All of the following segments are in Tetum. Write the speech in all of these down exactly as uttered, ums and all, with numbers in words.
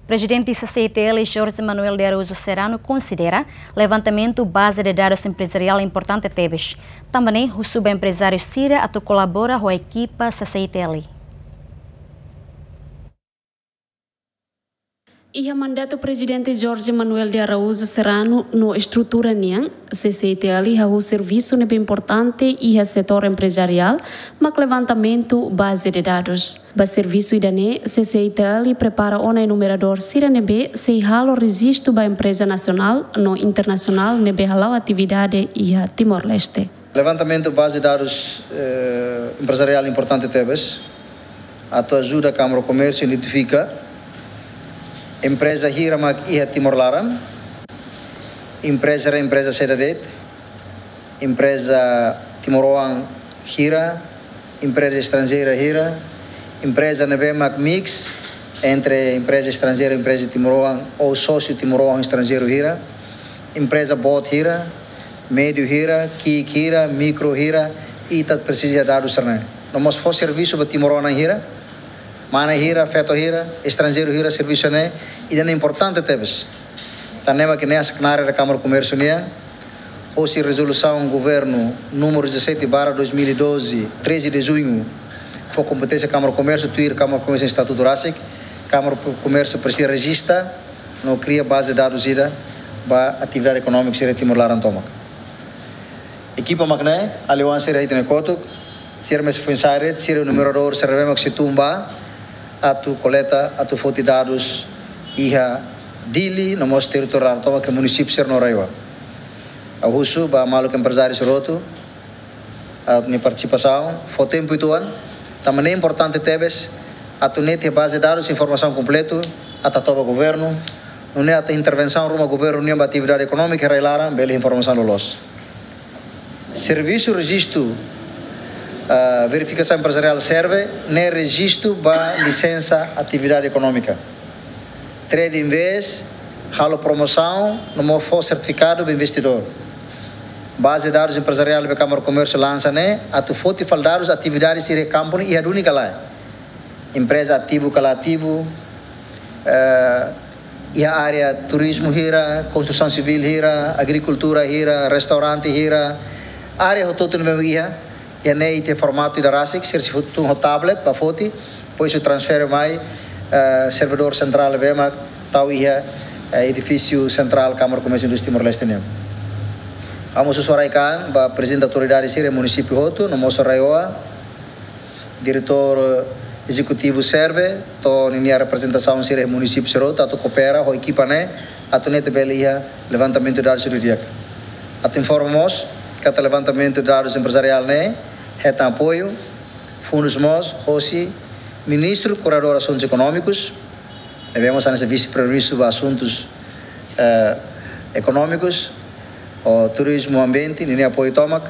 Prezidente C C I T L, Jorge Manuel de Araújo Serrano, konsidera levantamentu baze de dadus emprezariál importante tebes. Tanba ne'e, husu ba emprezáriu sira atu kolabora ho ekipa C C I T L. Iha mandatu Prezidente Jorge Manuel de Araújo Serrano no estrutura nian, C C I T L hahú servisu ne'ebé importante iha setór emprezariál, mak levantamentu baze de dadus. Ba servisu ida-ne'e, C C I T L prepara ona enumeradór sira ne'ebé sei halo rejistu ba empreza nasionál no internasionál ne'ebé hala'o atividade iha Timor-Leste. Levantamentu baze dadus, eh, emprezariál importante tebes, atu ajuda Kámara Komérsiu identifika empreza hira mak iha Timor laran, empreza, empreza saida de'it, empreza timoroan hira, empreza estranjeira hira, empreza ne'ebé mak mix entre empreza estranjeira, empreza timoroan ou sósiu timoroan estranjeiru hira, empreza boot hira, médiu hira, ki'ik hira, mikro hira, ita presiza dadus sira-ne'e. No mós fó servisu ba timoroan hira, mane hira, feto hira, estranjeiru hira, servisu ne'e, ida-ne'e importante tebes. Tan ne'e mak ne'e hanesan knaar ida Kámara Komérsiu nian, hosi rezolusaun governu númeru dezassete barra dois mil e doze, treze de junho, fó kompeténsia Kámara Komérsiu, tuir Kámara Komérsiu estatutu rasik, Kámara Komérsiu presiza rejista no kria baze dadus ida ba atividade ekonómika sira Timor laran tomak. Ekipa mak ne'e, aliansa sira ita-nia kotuk, sira mós foin-sa'e de'it, sira enumeradór sira ne'ebé mak sei tun ba atu koleta, atu foti dadus iha Dili, no mós territóriu laran tomak, ke munisípiu sira no RAEOA. Ha'u husu ba maluk emprezáriu sira hotu, atu nia partisipasaun, fó tempu uitoan, tanba ne'e importante tebes, atu netik baze dadus informasaun kompletu, atu toba governu, nune'e atu intervensaun ruma governu nian ba atividade ekonómika rai-laran, bele informasaun loloos. Servisu rejistu, ah, verifikasaun emprezariál serve ne'e rejistu ba lisensa atividade ekonómika. Trade invest, halo promosaun, no mós fó sertifikadu ba investidór. Baze dadus emprezariál be Kámara Komérsiu lansa ne'e, atu foti fali dadus atividade sira iha kampu ne'e iha duni ka lae. Empreza ativu ka la ativu, eh, iha área turizmu hira, konstrusaun sivíl hira, agrikultura hira, restaurante hira, área hotu-hotu ne'ebé iha, iha ne'e iha formatu ida rasik, sira sei tun ho tablet ba foti, depois sei transfere mai, eh, servidór sentrál ne'ebé mak tau iha, eh, edifísiu sentrál Kámara Komérsiu Indústria Timor-Leste nian. Ha'u mós husu rai-kaan ba prezidente autoridade sira munisípiu hotu, no mós RAEOA, diretór ezekutivu serve, to'o ninia reprezentasaun sira munisípiu sira hotu, atu koopera ho ekipa ne'e, atu netik bele iha levantamentu dadus sira di'ak. Atu informa mós, katak levantamentu dadus emprezariál ne'e, hetan apoiu, fundus mós, hosi Ministru Koordenadór Asuntus Ekonómikus, ne'ebé mós hanesan Vise-Primeiru-Ministru ba Asuntus, eh, Ekonómikus, ho Turizmu Ambiente, ninia apoiu tomak,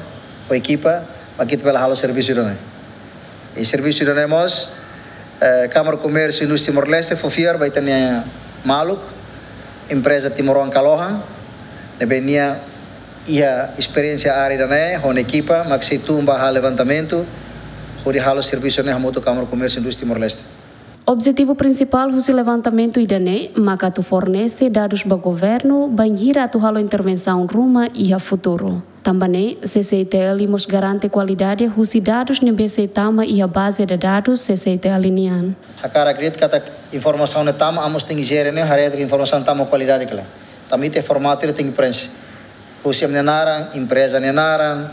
ho ekipa, mak ita bele halo servisu ida-ne'e. I servisu ida-ne'e mós, eh, Kámara Komérsiu Indústria Timor-Leste fó fiar ba ita-nia maluk, empreza timoroan Kalohan, ne'ebé nia iha esperiénsia área ida-ne'e, ho nia ekipa, mak sei tun ba halo levantamentu, hodi halo servisu ne'e hamutuk Kámara Komérsiu Indústria Timor-Leste. Objetivu prinsipál husi levantamentu ida-ne'e, maka atu fornese dadus ba governu, bainhira atu halo intervensaun ruma iha futuru. Tanba ne'e, C C I T L mós garante kualidade husi dadus ne'ebé sei tama iha baze de dadus C C I T L nian. Hakarak de'it katak informasaun ne'e tama, ami mós tenke jere ne'e, haree katak informasaun tama kualidade ka lae. Tanba ita formatu ida tenke prenxe. Husi ami-nia naran, empreza nia naran,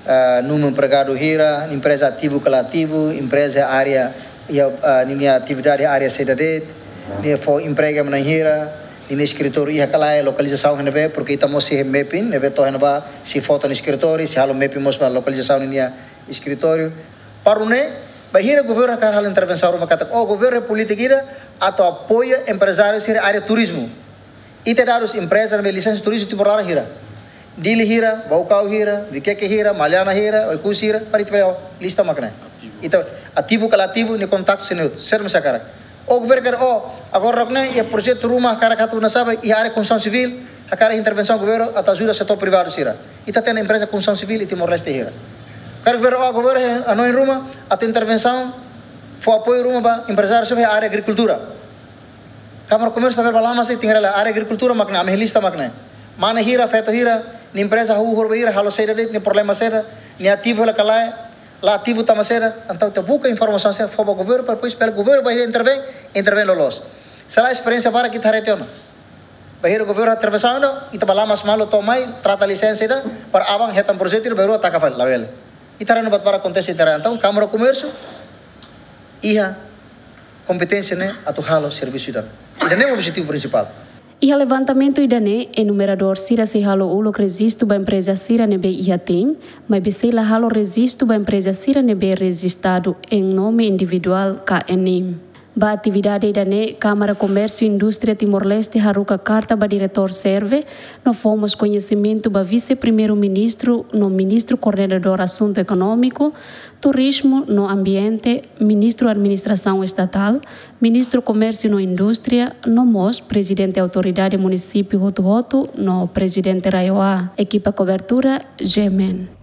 eh, númeru empregadu hira, empreza ativu ka la ativu, empreza área, iha, eh, ninia atividade área saida de'it, nia fó empregu ba na'in hira, ninia eskritóriu iha ka lae, lokalizasaun iha ne'ebé, porque ita mós iha mapping, ne'ebé to'o iha ne'ebá, sei fó to'o nia eskritóriu, sei halo mapping mós ba lokalizasaun ninia eskritóriu. Para nune'e, bainhira governu hakarak halo intervensaun ruma katak, oh, governu polítika ida, atu apoia emprezáriu sira área turizmu. Ita dadus empreza ne'ebé lisensa turizmu Timor laran hira. Dili hira, Baucau hira, Viqueque hira, Maliana hira, Oekusi hira, para ita bele lista mak ne'e. Ita ativu ka la ativu, nia kontaktu sira-ne'e hotu. Sira mós hakarak. Oh, governu hakarak, oh, agora ne'e, iha projetu ruma hakarak atu nasabe, iha área konstrusaun sivíl, hakarak intervensaun governu, atu ajuda setór privadu sira. Ita-nia empreza konstrusaun sivíl iha Timor-Leste hira. Hakarak governu, oh, governu hanoin ruma, atu intervensaun, fó apoiu ruma ba emprezáriu sira iha área agrikultura. Kámara Komérsiu ita bele bá lama sei, tenke haree hela área agrikultura mak ne'e, ami lista mak ne'e. Mane hira, feto hira, nia empreza hahú horibainhira, halo saida de'it, nia problema saida, nia ativu hela ka lae, la ativu tanba saida. Entaun ita buka informasaun sira fó ba governu, para depois bele governu bainhira intervein, intervein loloos. Se lae, esperiénsia barak ita haree tiha ona. Bainhira governu intervensaun, ita bá lama malu to'o mai, trata lisensa ida, para aban hetan projetu ida, bainhira taka fali, labele. Ita haree ona buat barak akontese iha ita-nia rai. Entaun Kámara Komérsiu iha kompeténsia ne'e atu halo servisu ida-ne'e. Ida-ne'e objetivu prinsipál. Iha levantamentu ida-ne'e, enumeradór sira sei halo uluk rejistu ba empreza sira ne'ebé iha TIM, maibé sei la halo rejistu ba empreza sira ne'ebé rejistadu em nome individuál ka enim. Ba atividade ida-ne'e, Kámara Komérsiu Indústria Timor-Leste haruka karta ba Diretór Serve, no fó mós koñesimentu ba Vise-Primeiru-Ministru no Ministru Koordenadór Asuntu Ekonómiku, Turizmu no Ambiente, Ministru Administrasaun Estatál, Ministru Komérsiu no Indústria, no mós Prezidente Autoridade Munisípiu hotu-hotu no Prezidente RAEOA. Ekipa kobertura, G M N.